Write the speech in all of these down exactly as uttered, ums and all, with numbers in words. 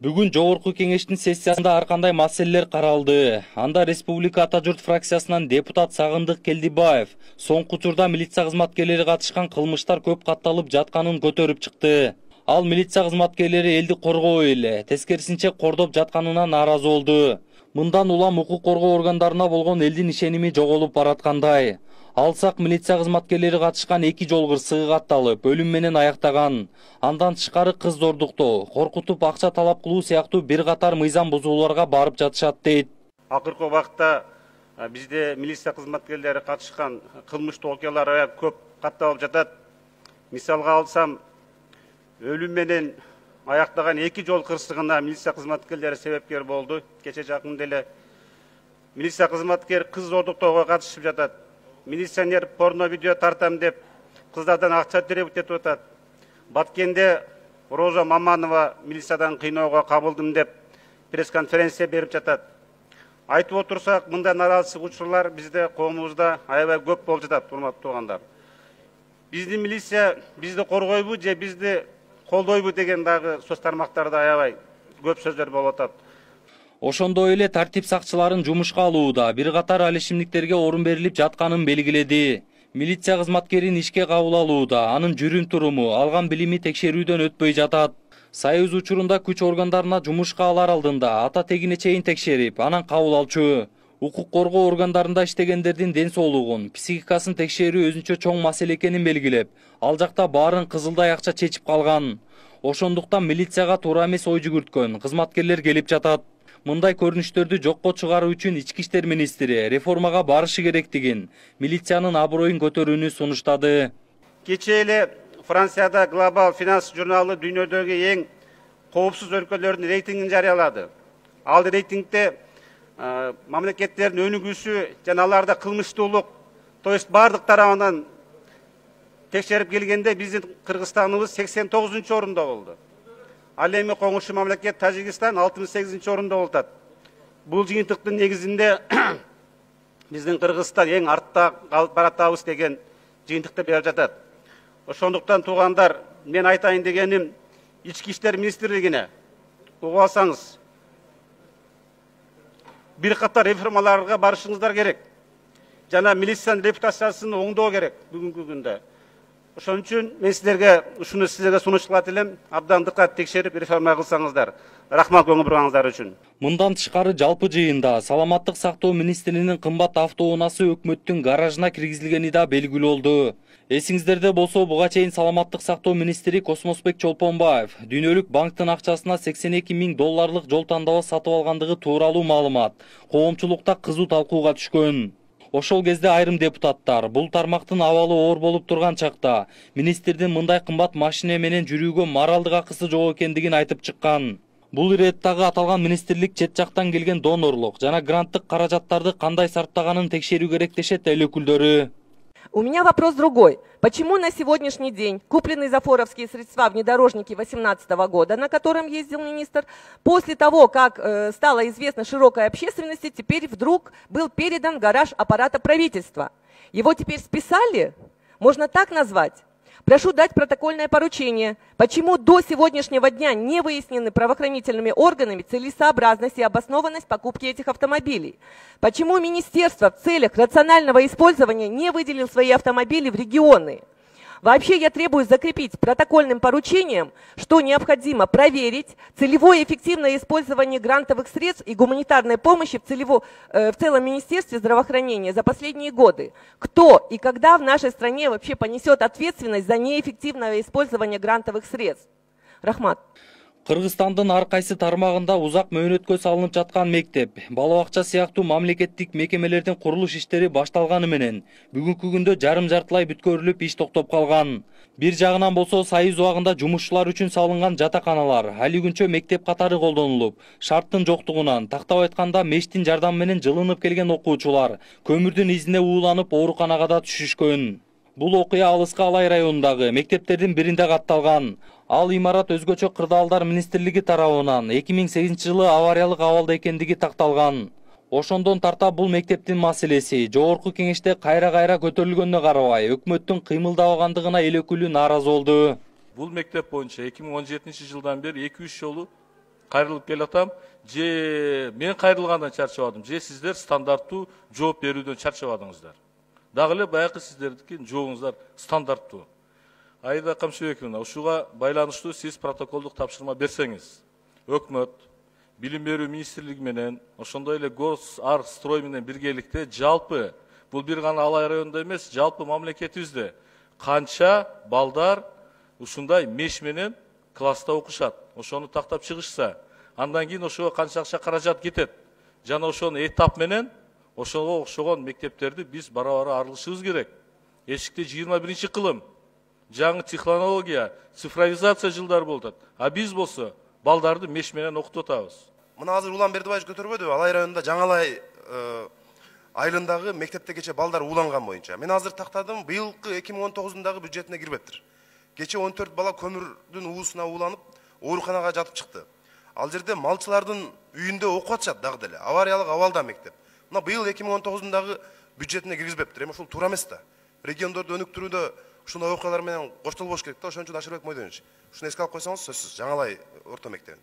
Бүгүн жогорку кеңештин сессиясында ар кандай маселелер каралды. Анда Республика Ата журт фракциясынан депутат Сагындык Келдибаев соңку учурда милиция кызматкерлери катышкан кылмыштар көп катталып жатканын көтөрүп чыкты. Ал милиция кызматкерлери элди коргобой эле, тескерисинче кордоп жатканына нааразы болду. Мындан улам укук коргоо органдарына болгон элдин ишеними жоголуп бараткандай. Алсак милиция кызматкерлери катышкан эки жол кырсыгы катталып, өлүм менен аяктаган. Андан тышкары кыз зордуктоо, коркутуп акча талап кылуу сыяктуу бир катар мыйзам бузууларга барып жатышат дейт. Акыркы убакта бизде милиция кызматкерлери катышкан кылмыштуу окуялар көп катталып жатат. Мисалга алсам, өлүм менен аяктаган эки жол кырсыгына милиция кызматкерлери себепкер болду. Кече жакында эле милиция кызматкер кыз зордуктоого катышып жатат. Милиционер порно видео тартам деп кыздардан акча требовать этип атат. Баткенде Роза Маманова милициядан кыйноого кабылдым деп пресс-конференция берип жатат. Айтып отурсак, мындай нараазычылык учурлар бизде коомубузда аябай көп болуп жатат, урматтуу туугандар. Биздин милиция бизди коргойбу же бизди колдойбу деген дагы сөз тармактарда аябай көп сөздөр болуп атат. Ошондой эле тартип сакчыларын жумушка алууда бир катар алишимдиктерге орун берилип жатканын белгиледи. Милиция кызматкерин ишке кабыл алууда анын жүрүм-туруму, алган билими текшерүүдөн өтпөй жатат. Союз учурунда күч органдарына жумушка алар алдында ата тегине чейин текшерип, анан кабыл алчу. Укук коргоо органдарында иштегендердин ден соолугун, психикасын текшерүү өзүнчө чоң маселе экенин белгилеп, ал жакта баарын кызылдай акча чечип калган. Ошондуктан милицияга туура эмес ой жүгүрткөн кызматкерлер келип жатат. Мындай көрүнүштөрдү жокко чыгаруу үчүн ички иштер министри реформага барышы керектигин, милициянын аброюн көтөрүүнү сунуштады. Кече эле Францияда Global Finance журналы дүйнөдөгү эң коопсуз өлкөлөрдүн рейтингин жарыялады. Ал рейтингде мамлекеттердин өнүгүүсү жана аларда кылмыштуулук, то есть бардык тарабынан текшерип келгенде биздин Кыргызстаныбыз сексен тогузунчу орунда болду. Ал эми коңшу мамлекет Тажикстан алтымыш сегизинчи орунда болот. Бул жыйынтыктын негизинде биздин Кыргызстан эң артта калып баратабыз деген жыйынтыкты берип жатат. Ошондуктан туугандар, мен айтайын дегеним, ички иштер министрлигине угуп алсаңыз, бир катар реформаларга барышыңыздар керек. Жана милициянын репутациясын оңдоо керек бүгүнкү күндө. Ошон үчүн мен силерге ушуну силерге сунуш кылат элем, абдан дыкат текшерип реформа кылсаңыздар. Рахмат көңүл бурганыңыздар үчүн. Мындан тышкары жалпы жыйында саламаттык сактоо министринин кымбат автоунаасы өкмөттүн гаражына киргизилгени да белгилүү болду. Эсиңиздерде болсо, буга чейин саламаттык сактоо министри Космосбек Чолпонбаев дүйнөлүк банктын акчасына сексен эки миң долларлык жол тандабы сатып алгандыгы тууралуу маалымат коомчулукта кызуу талкууга түшкөн. Ошол кезде айрым депутаттар бул тармактын абалы оор болуп турган чакта министрдин мындай кымбат машина менен жүрүүгө моралдык акысы жок экендигин айтып чыккан. Бул иреттагы аталган министрлик чет жактан келген донорлук жана гранттык каражаттарды кандай сарптаганын текшерүү керек дешет эл өкүлдөрү. У меня вопрос другой. Почему на сегодняшний день купленные зафоровские средства внедорожники две тысячи восемнадцатого года, на котором ездил министр, после того, как э, стало известно широкой общественности, теперь вдруг был передан в гараж аппарата правительства? Его теперь списали? Можно так назвать? Прошу дать протокольное поручение. Почему до сегодняшнего дня не выяснены правоохранительными органами целесообразность и обоснованность покупки этих автомобилей? Почему министерство в целях рационального использования не выделило свои автомобили в регионы? Вообще я требую закрепить протокольным поручением, что необходимо проверить целевое эффективное использование грантовых средств и гуманитарной помощи в, целево, э, в целом Министерстве здравоохранения за последние годы. Кто и когда в нашей стране вообще понесет ответственность за неэффективное использование грантовых средств? Рахмат. Кыргызстандын ар кайсы тармагында узак мөөнөткө салынып жаткан мектеп, бала бакча сыяктуу мамлекеттик мекемелердин курулуш иштери башталганы менен бүгүнкү күндө жарым-жартылай бүткөрүлүп иш токтоп калган. Бир жагынан болсо Союз убагында жумушчулар үчүн салынган жатаканалар али күнчө мектеп катары колдонулуп, шарттын жоктугунан, тактап айтканда мештин жардамы менен жылынып келген окуучулар көмүрдүн изине ууланып ооруканага да түшүшкөн. Бул окуя Алыскы Алай районундагы мектептердин биринде катталган. Ал имарат өзгөчө кырдаалдар министрлиги тарабынан эки миң сегизинчи жылы авариялык абалда экендиги такталган. Ошондон тарта бул мектептин маселеси жогорку кеңеште кайра-кайра көтөрүлгөнүнө карабай, өкмөттүн кыймылдабагандыгына эл өкүлү нааразы болду. Бул мектеп боюнча эки миң он жетинчи жылдан бери эки үч жолу кайрылып келатам, же мен кайрылгандан чарчабадым, же сиздер стандарттуу жооп берүүдөн чарчабадыңыздар. Дагы эле баягы сиздердики жообуңуздар стандарттуу. Аида Камшыбековна, ушуга байланыштуу сиз протоколдук тапшырма берсеңиз, өкмөт, билим берүү министрлиги менен, ошондой эле Госарстрой менен биргеликте жалпы, бул бир гана Алай районунда эмес, жалпы мамлекетибизде канча балдар ушундай меш менен класста окушат, ошону тактап чыгышса, андан кийин ошого канча акча каражат кетет, жана ошону этап менен ошого окшогон мектептерди биз бара-бара арылышыбыз керек. Эшикте жыйырма биринчи кылым, жаңы технология, цифровизация жылдары болуп атат. А биз болсо балдарды меш менен окутуп атабыз. Мына азыр Улан Бердибаевич көтөрбөдүбү? Алай районунда Жаңалай айылындагы мектепте кече балдар ууланган боюнча. Мен азыр тактадым, быйылкы эки миң он тогузундагы бюджетине кирбептир. Кече он төрт бала көмүрдүн уусуна ууланып, ооруканага жатып чыкты. Ал жерде малчылардын үйүндө окуп атышат дагы деле. Авариялык абалда мектеп. Мына быйыл эки миң он тогузундагы бюджетине киргизбептир. Эми ушул туура эмес да. Региондорду өнүктүрүүдө ушундай окуялар менен коштолбош керек да. Ошон үчүн Ашырбек Мойдонович, ушуну эске алып койсоңуз сөзсүз Жаңалай орто мектебин.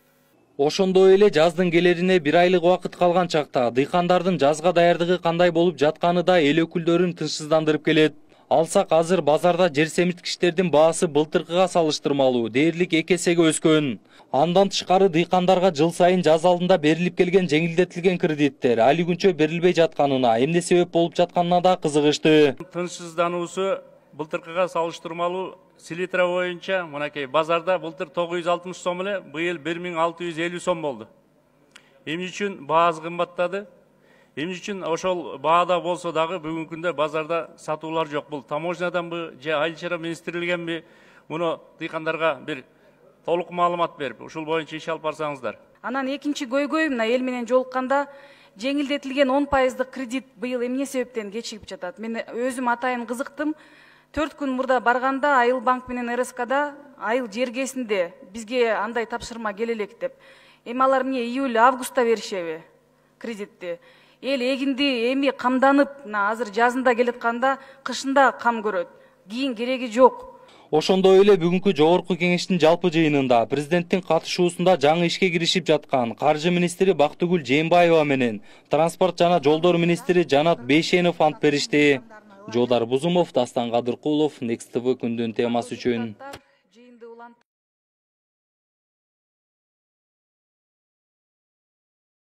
Ошондой эле жаздын келерине бир айлык убакыт калган чакта дыйкандардын жазга даярдыгы кандай болуп жатканы да эл өкүлдөрүн тынчсыздандырып келет. Алсак азыр базарда жер семирткичтердин баасы былтыркыга салыштырмалуу дээрлик эки эсеге өскөн. Андан тышкары дыйкандарга жыл сайын жаз алдында берилип келген жеңилдетилген кредиттер али күнчө берилбей жатканына, эмне себеп болуп жатканына да кызыгышты. Тынчсыздануусу былтыркыга салыштырмалуу селитра боюнча мынакей базарда былтыр тогуз жүз алтымыш сом эле, быйыл бир миң алты жүз элүү сом болду. Эмне үчүн баасы кымбаттады? Эмне үчүн ошол баада болсо дагы бүгүнкү күндө базарда сатуулар жок? Бул таможняданбы же айыл чарба министрлигиненби? Муну дыйкандарга бир толук маалымат берип, ушул боюнча иш алып барсаңыздар. Анан экинчи көйгөй мына эл менен жолукканда жеңилдетилген он пайыздык кредит быйыл эмне себептен кечигип жатат? Мен өзүм атайын кызыктым. төрт күн мурда барганда Айыл банк менен эр эс кда айыл жергесинде бизге андай тапшырма келе элек деп. Эми алар эмне июль августта беришеби кредитти? Эл эгинди эми камданып, азыр жазында келатканда кышында кам көрөт. Кийин кереги жок. Ошондой эле бүгүнкү жогорку кеңештин жалпы жыйынында президенттин катышуусунда жаңы ишке киришип жаткан каржы министри Бактыгүл Жээнбаева менен транспорт жана жолдор министри Жанат Бейшенов ант беришти. Жолдар Бузумов, Дастан Кадыркулов, Next тэ вэ күндүн темасы үчүн.